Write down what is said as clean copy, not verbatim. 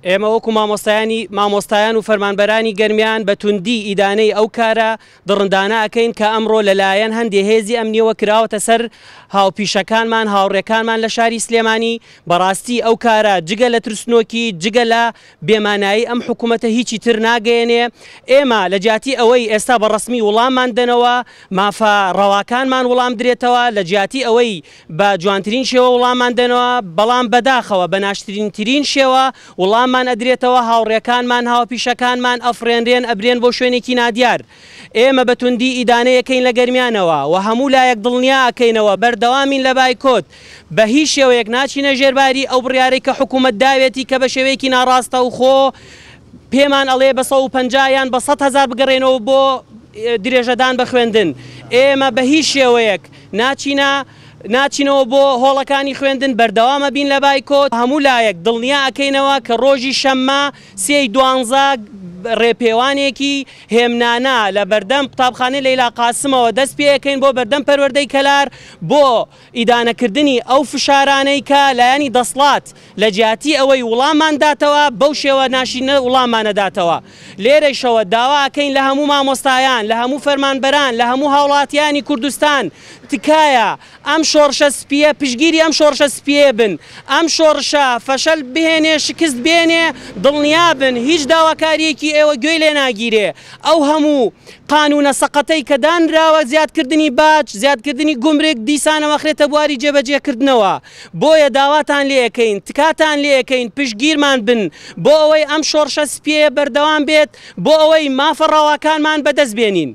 ئێمە وەکو مامۆستایانی مامۆستایان و فەرمانبەرانی گەرمیان بە توندی ئیدانەی ئەو کارە دڕندانە ئەکەین کە ئەمڕۆ لەلایەن هەندێ هێزی ئەمنیەوە کراوەتە سەر هاوپیشەکانمان هاوڕێکانمان لە شاری سلێمانی بەڕاستی ئەو کارە جگە لە ترسنۆکی جگە لە بێمانایی ئەم حکومەتە هیچی تر ناگەیەنێ ئێمە لە جیاتی ئەوەی ئێستا بە ڕەسمی وڵاممان دەنەوە مافە ڕەواکانمان وڵام درێتەوە لە جیاتی ئەوەی بە جوانترین شێوە وڵاممان دەنەوە، بەڵام بەداخەوە بە ناشترینترین شێوە وڵاممان ئەدرێتەوە، هاوڕێکانمان، هاوپیشەکانمان ئەفڕێنرێن ئەبرێن بۆ شوێنێکی نادیار. ئێمە بە توندی ئیدانەی ئەکەین لە گەرمیانەوە و هەموو لایەک دڵنیا ئەکەینەوە بەردەوامین لە بایکۆت، بە هیچ شێوەیەک ناچینە ژێر باری ئەو بڕیارەی کە حکوومەت داوێتی کە بە شێوەیەکی ناڕاستەوخۆ پێمان ئەڵێ بە 150 یان بە 100 هەزار بگەڕێنەوە بۆ درێژەدان بە خوێندن. ئێمە بە هیچ شێوەیەک ناچینە ناچینەوە بۆ هۆڵەکانی خوێندن بەردەوام ئەبین لە بایکۆت، هەموو لایەک دڵنیا ئەکەینەوە کە ڕۆژی شەممە سێی دوانزە ڕێپێوانێکی هێمنانە لە بەردەم قوتابخانەی لەیلا قاسمەوە دەست پێ ئەکەین بۆ بەردەم پەروەردەی کەلار بۆ ئیدانەکردنی ئەو فشارانەی کە لایەنی دەسڵات لە جیاتی ئەوەی وڵاممان داتەوە بەو شێوە ناشیرنە وڵاممان نەداتەوە. لێرەیشەوە داوا ئەکەین لە هەموو مامۆستایان، لە هەموو فەرمانبەران، لە هەموو هاوڵاتیانی کوردستان تکایە ئەم شۆڕشە سپییە پشتگیری ئەم شۆڕشە سپییە بن. ئەم شۆڕشە فەشەل بهێنێ، شکست بێنێ، دڵنیا بن هیچ داواکارییەکی ئێوە گوێی لێ ناگیرێ. ئەو هەموو قانوونە سەقەتەی کە دانراوە زیادکردنی باج، زیادکردنی گومرگ دیسانەوە ئەخرێتە بواری جێبەجێکردنەوە. بۆیە داواتان لێ ئەکەین، تکاتان لێ ئەکەین پشتگیرمان بن بۆ ئەوەی ئەم شۆڕشە سپییەیە بەردەوام بێت، بۆ ئەوەی مافە ڕەواکانمان بەدەست بێنین.